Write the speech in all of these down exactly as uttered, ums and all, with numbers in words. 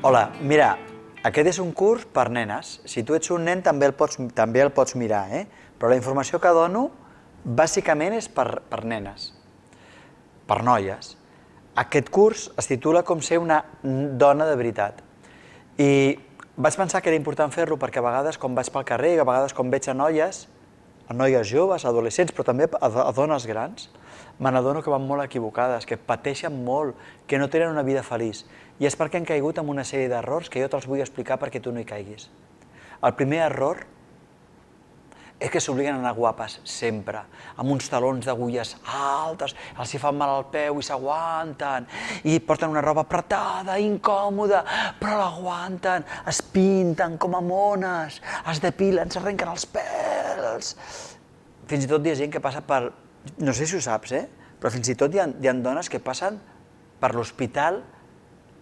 Hola, mira, aquest és un curs per nenes. Si tu ets un nen també el pots, també el pots mirar, eh? Però la informació que dono bàsicament és per, per nenes, per noies. Aquest curs es titula Com ser una dona de veritat. I vaig pensar que era important fer-lo perquè a vegades quan vaig pel carrer, a vegades quan veig a noies, a noies joves, adolescents, però també a, a dones grans, me n'adono que van molt equivocades, que pateixen molt, que no tenen una vida feliç. I és perquè han caigut en una sèrie d'errors que jo te'ls vull explicar perquè tu no hi caiguis. El primer error és que s'obliguen a anar guapes sempre, amb uns talons d'agulles altes, els hi fan mal al peu i s'aguanten, i porten una roba apretada, incòmoda, però l'aguanten, es pinten com a mones, es depilen, s'arrenquen els pèls. Fins i tot hi ha gent que passa per... No sé si ho saps, eh? Però fins i tot hi ha, hi ha dones que passen per l'hospital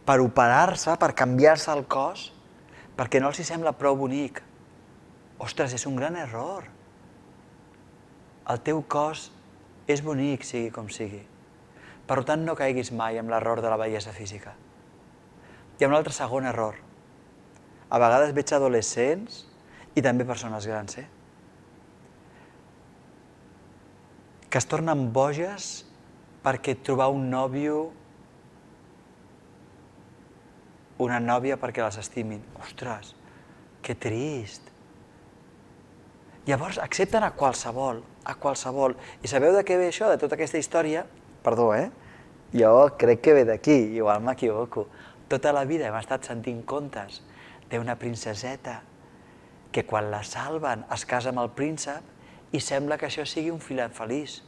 per operar-se, per canviar-se el cos, perquè no els hi sembla prou bonic. Ostres, és un gran error. El teu cos és bonic, sigui com sigui. Per tant, no caiguis mai en l'error de la bellesa física. Hi ha un altre segon error. A vegades veig adolescents i també persones grans, eh? que es tornen boges perquè trobar un nòvio, una nòvia perquè les estimin. Ostres, que trist. Llavors accepten a qualsevol, a qualsevol. I sabeu de què ve això, de tota aquesta història? Perdó, eh? Jo crec que ve d'aquí, igual m'equivoco. Tota la vida hem estat sentint contes d'una princeseta que quan la salven es casa amb el príncep i sembla que això sigui un final feliç.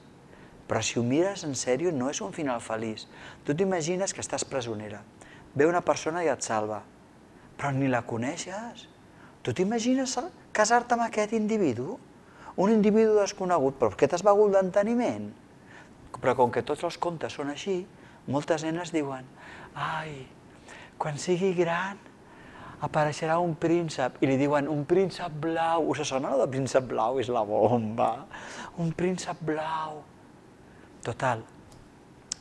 Però si ho mires en sèrio, no és un final feliç. Tu t'imagines que estàs presonera, ve una persona i et salva, però ni la coneixes. Tu t'imagines casar-te amb aquest individu? Un individu desconegut, però aquest es va gul d'enteniment. Però com que tots els contes són així, moltes nenes diuen ai, quan sigui gran apareixerà un príncep, i li diuen un príncep blau. Us sona de príncep blau? És la bomba. Un príncep blau. Total,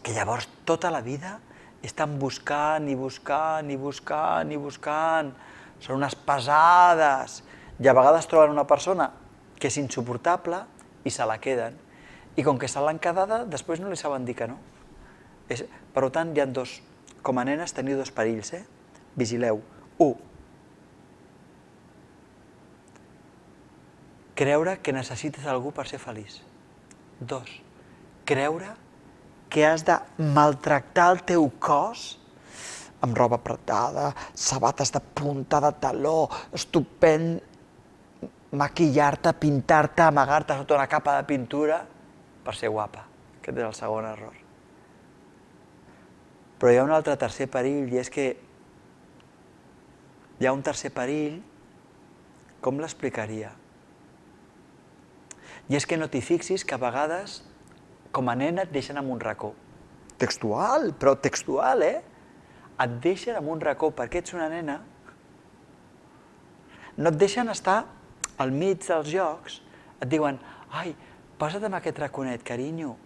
que llavors tota la vida estan buscant i buscant i buscant i buscant. Són unes pesades. I a vegades troben una persona que és insuportable i se la queden. I com que se l'han quedada, després no li saben dir que no. Per tant, hi ha dos. Com a nenes teniu dos perills, eh? Vigileu. Un, creure que necessites algú per ser feliç. Dos, creure que has de maltractar el teu cos amb roba apretada, sabates de punta, de taló, estupend, maquillar-te, pintar-te, amagar-te sota una capa de pintura per ser guapa. Aquest és el segon error. Però hi ha un altre tercer perill, i és que hi ha un tercer perill, com l'explicaria? I és que no t'hi fixis que a vegades, com a nena, et deixen en un racó. Textual, però textual, eh? Et deixen en un racó perquè ets una nena. No et deixen estar al mig dels jocs. Et diuen, ai, posa't en aquest raconet, carinyo.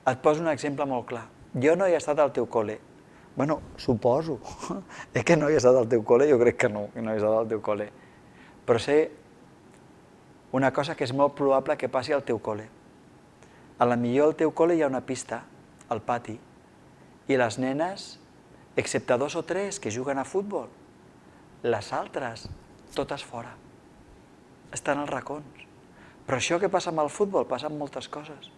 Et poso un exemple molt clar. Jo no he estat al teu col·le. Bueno, suposo. És que no he estat al teu col·le? Jo crec que no, que no he estat al teu col·le. Però sé una cosa que és molt probable que passi al teu col·le. A la millor al teu col·le hi ha una pista, al pati, i les nenes, excepte dos o tres que juguen a futbol, les altres, totes fora. Estan als racons. Però això que passa amb el futbol passa amb moltes coses.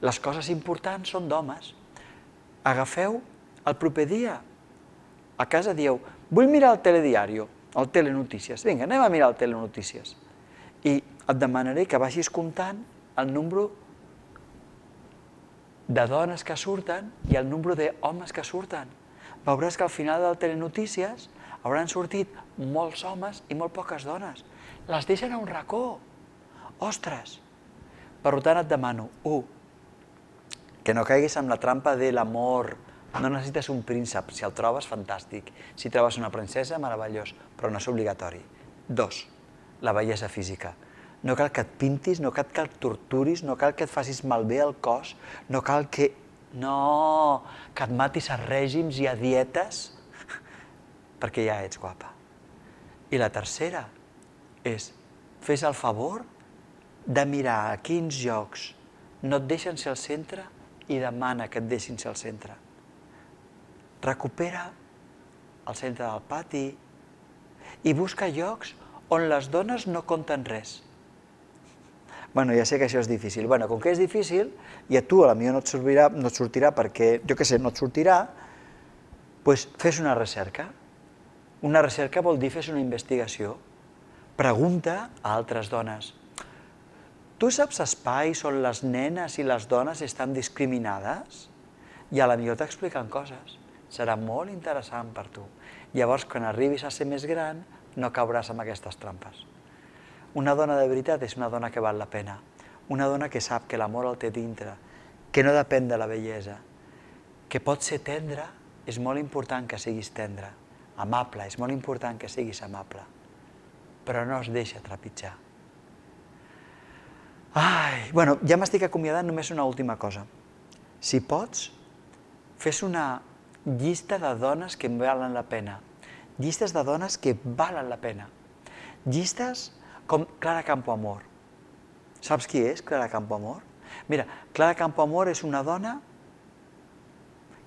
Les coses importants són d'homes. Agafeu el proper dia. A casa dieu, vull mirar el telediario, el telenotícies. Vinga, anem a mirar el telenotícies. I et demanaré que vagis comptant el número de dones que surten i el número d'homes que surten. Veuràs que al final del telenotícies hauran sortit molts homes i molt poques dones. Les deixen a un racó. Ostres! Per tant, et demano, u, que no caiguis en la trampa de l'amor. No necessites un príncep, si el trobes, fantàstic. Si trobes una princesa, meravellós, però no és obligatori. Dos, la bellesa física. No cal que et pintis, no cal que et torturis, no cal que et facis malbé el cos, no cal que No, que et matis a règims i a dietes perquè ja ets guapa. I la tercera és, fes el favor de mirar a quins llocs no et deixen ser al centre i demana que et deixin ser al centre. Recupera el centre del pati i busca llocs on les dones no compten res. Bueno, ja sé que això és difícil. Bueno, com que és difícil, i a tu a la millor no et sortirà, no et sortirà perquè, jo què sé, no et sortirà, doncs fes una recerca. Una recerca vol dir fes una investigació. Pregunta a altres dones. Tu saps espais on les nenes i les dones estan discriminades? I a la millor t'expliquen coses. Serà molt interessant per tu. Llavors, quan arribis a ser més gran, no cauràs en aquestes trampes. Una dona de veritat és una dona que val la pena. Una dona que sap que l'amor el té dintre, que no depèn de la bellesa, que pot ser tendre, és molt important que siguis tendre, amable, és molt important que siguis amable, però no es deixa trepitjar. Ai, bueno, ja m'estic acomiadant, només una última cosa. Si pots, fes una llista de dones que valen la pena, llistes de dones que valen la pena, llistes com Clara Campoamor. Saps qui és Clara Campoamor? Mira, Clara Campoamor és una dona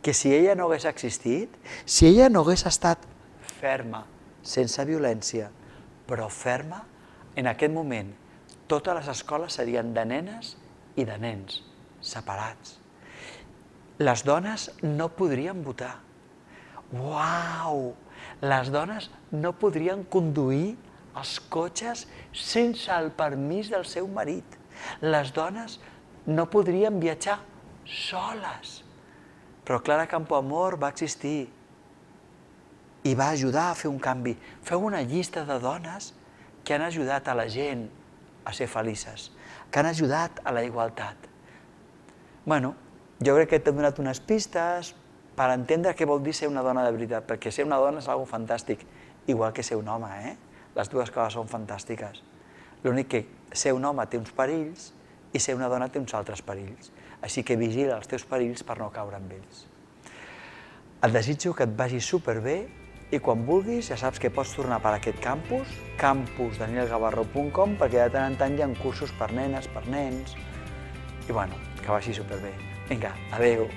que si ella no hagués existit, si ella no hagués estat ferma, sense violència, però ferma, en aquest moment totes les escoles serien de nenes i de nens, separats. Les dones no podrien votar. Uau! Les dones no podrien conduir els cotxes sense el permís del seu marit. Les dones no podrien viatjar soles. Però Clara Campoamor va existir i va ajudar a fer un canvi. Feu una llista de dones que han ajudat a la gent a ser felices, que han ajudat a la igualtat. Bueno, jo crec que t'he donat unes pistes per entendre què vol dir ser una dona de veritat, perquè ser una dona és una cosa fantàstic, igual que ser un home, eh? Les dues coses són fantàstiques. L'únic que ser un home té uns perills i ser una dona té uns altres perills. Així que vigila els teus perills per no caure amb ells. Et desitjo que et vagi superbé i quan vulguis ja saps que pots tornar per aquest campus, campus daniel gavarro punt com, perquè de tant en tant hi ha cursos per nenes, per nens, i bueno, que vagi superbé. Vinga, adeu!